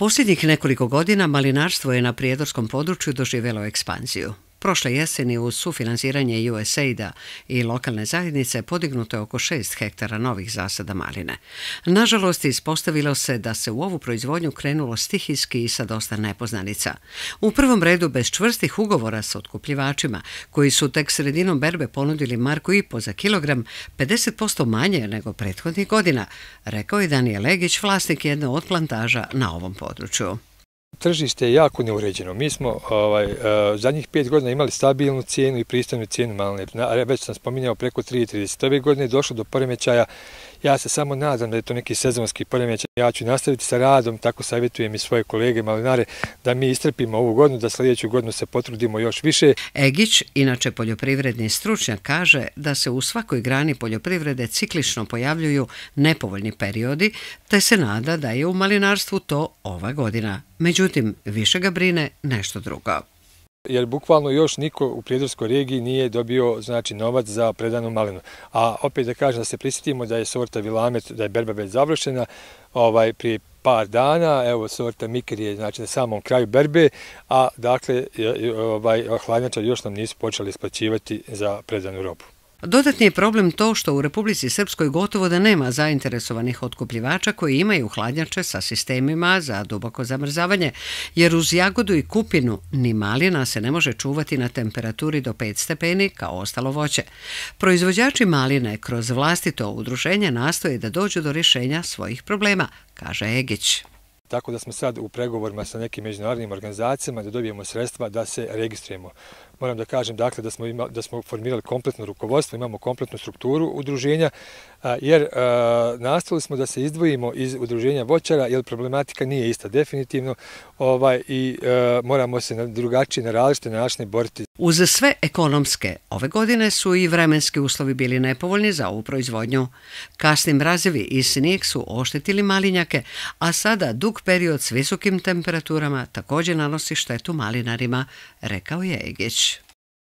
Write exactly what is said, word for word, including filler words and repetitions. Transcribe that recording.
Posljednjih nekoliko godina malinarstvo je na prijedorskom području doživjelo ekspanziju. Prošle jeseni uz sufinansiranje U S A I D-a i lokalne zajednice podignuto je oko šest hektara novih zasada maline. Nažalost, ispostavilo se da se u ovu proizvodnju krenulo stihijski i sa dosta nepoznanica. U prvom redu bez čvrstih ugovora sa otkupljivačima, koji su tek sredinom berbe ponudili marku i po za kilogram, pedeset posto manje nego prethodnih godina, rekao je Danijel Egić, vlasnik jedne od plantaža na ovom području. Tržište je jako neuređeno. Mi smo ovaj, uh, zadnjih pet godina imali stabilnu cijenu i pristojnu cijenu maline. Već sam spominjao preko tri trideset. Ove godine je došlo do poremećaja. Ja se samo nadam da je to neki sezonski poremećaj. Ja ću nastaviti sa radom, tako savjetujem i svoje kolege malinare da mi istrpimo ovu godinu, da sljedeću godinu se potrudimo još više. Egić, inače poljoprivredni stručnjak, kaže da se u svakoj grani poljoprivrede ciklično pojavljuju nepovoljni periodi, te se nada da je u malinarstvu to ova godina. Međutim, više ga brine nešto drugo. Jer bukvalno još niko u Prijedorskoj regiji nije dobio znači, novac za predanu malinu. A opet da kažem da se prisjetimo da je sorta Vilamet, da je berba već završena ovaj, prije par dana, evo sorta Miker je znači, na samom kraju berbe, a dakle ovaj, hladnjačari još nam nisu počeli isplaćivati za predanu robu. Dodatni je problem to što u Republici Srpskoj gotovo da nema zainteresovanih otkupljivača koji imaju hladnjače sa sistemima za duboko zamrzavanje, jer uz jagodu i kupinu ni malina se ne može čuvati na temperaturi do pet stepeni kao ostalo voće. Proizvođači maline kroz vlastito udruženje nastoje da dođu do rješenja svojih problema, kaže Egić. Tako da smo sad u pregovorima sa nekim međunarodnim organizacijama da dobijemo sredstva da se registrujemo. Moram da kažem dakle, da, smo ima, da smo formirali kompletno rukovodstvo, imamo kompletnu strukturu udruženja, jer a, nastavili smo da se izdvojimo iz udruženja voćara, jer problematika nije ista definitivno ovaj, i a, moramo se na drugačije, na različite načine boriti. Uz sve ekonomske, ove godine su i vremenski uslovi bili nepovoljni za ovu proizvodnju. Kasni mrazevi i snijeg su oštetili malinjake, a sada dug period s visokim temperaturama također nanosi štetu malinarima, rekao je Egić.